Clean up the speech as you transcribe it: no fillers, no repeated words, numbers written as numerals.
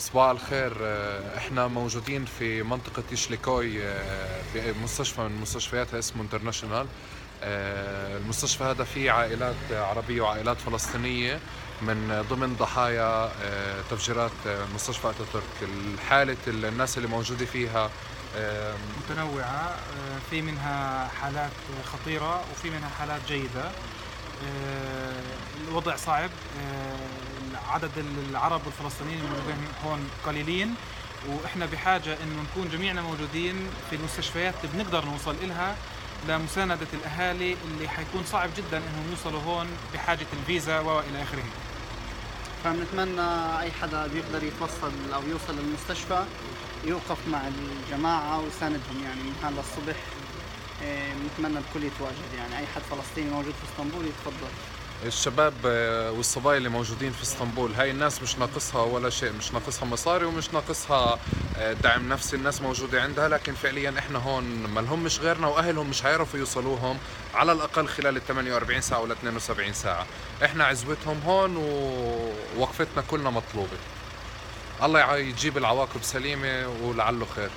صباح الخير. احنا موجودين في منطقة يشليكوي، بمستشفى من مستشفياتها اسمه انترناشونال. المستشفى هذا فيه عائلات عربية وعائلات فلسطينية من ضمن ضحايا تفجيرات مستشفى أتاتورك. الحالة الناس اللي موجودة فيها متنوعة، في منها حالات خطيرة وفي منها حالات جيدة. الوضع صعب. عدد العرب والفلسطينيين الموجودين هون قليلين، وإحنا بحاجة إنه نكون جميعنا موجودين في المستشفيات اللي بنقدر نوصل إلها لمساندة الأهالي اللي حيكون صعب جدا إنهم يوصلوا هون بحاجة الفيزا وإلى آخره. فبنتمنى أي حدا بيقدر يتوصل أو يوصل للمستشفى يوقف مع الجماعة ويساندهم، يعني من هلا الصبح بنتمنى الكل يتواجد، يعني أي حد فلسطيني موجود في اسطنبول يتفضل. الشباب والصبايا اللي موجودين في اسطنبول، هاي الناس مش ناقصها ولا شيء، مش ناقصها مصاري ومش ناقصها دعم نفسي، الناس موجودة عندها، لكن فعليا احنا هون مالهم مش غيرنا، واهلهم مش هيعرفوا يوصلوهم على الاقل خلال ال 48 ساعة ولا 72 ساعة. احنا عزوتهم هون ووقفتنا كلنا مطلوبة. الله يجيب العواقب سليمة ولعله خير.